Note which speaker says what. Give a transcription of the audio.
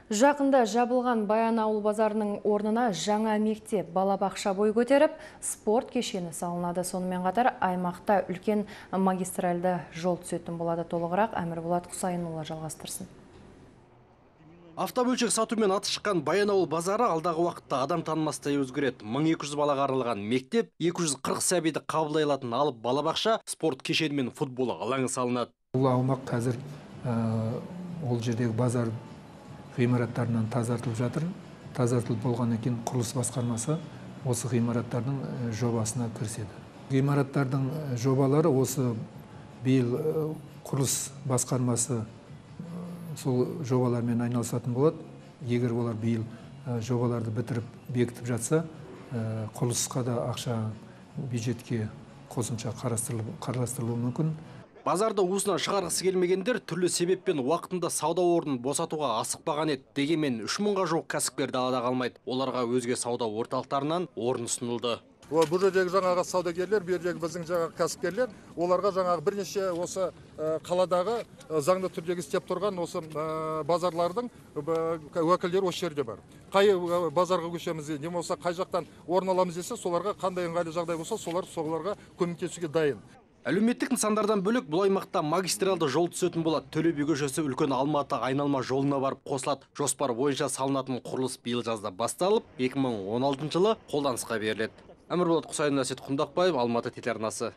Speaker 1: Жақында жабылған Баянауыл базарының орнына жаңа мектеп, балабақша бой көтеріп, спорт кешені салынады. Сонымен қатар аймақта үлкен магистральды жол түсетін болады. Толығырақ Әмірболат Құсайынұлы жалғастырсын.
Speaker 2: Автобөлшек сатумен аты шыққан Баянауыл базары алдағы уақытта адам танымастай өзгереді. 1200 балаға арналған мектеп, 240 сәбиді қабылдай алатын алып балабақша, спорт кешені мен футбол алаңы салынады.
Speaker 3: Бұл аумақ қазір ол жердегі базар ғимараттарынан тазартылып жатыр. Тазартылып болғаннан кейін құрылыс басқармасы осы ғимараттардың жобасына кіріседі. Ғимараттардың жобалары осы биыл құрылыс басқармасы сол жобалармен айналысатын болады. Егер олар биыл жобаларды бітіріп бекітіп жатса, құрылысқа да ақша бюджетке қосымша қарастырылуы мүмкін.
Speaker 2: Базарды уысынан шығарғысы келмегендер түрлі себеппен уақытында сауда орнын босатуға асықпаған еді. Дегенмен 3000-ға жуық кәсіпкер далада қалмайды. Оларға өзге сауда орталықтарынан орын ұсынылды.
Speaker 4: Бұл жердегі жаңағы саудагерлер, бұл жердегі біздің жаңағы кәсіпкерлер, оларға жаңағы бірнеше осы қаладағы заңды түрдегі істеп тұрған осы базарлардың уәкілдері осы жерде бар. Қай базарға көшеміз, не болса қай жақтан орын аламыз десе, соларға қандай ыңғайлы жағдай болса, соларға көмектесуге дайын.
Speaker 2: Әлеуметтік нысандардан бөлек бұл аймақта магистралды жол түсетін болады. Төле би көшесі үлкен Алматы айналма жолына барып қосылады. Жоспар бойынша салынатын құрылыс биыл жазда басталып, 2016 жылы қолданысқа беріледі. Әмірболат Құсайын, Әсет Құндақбаев, Алматы телеарнасы.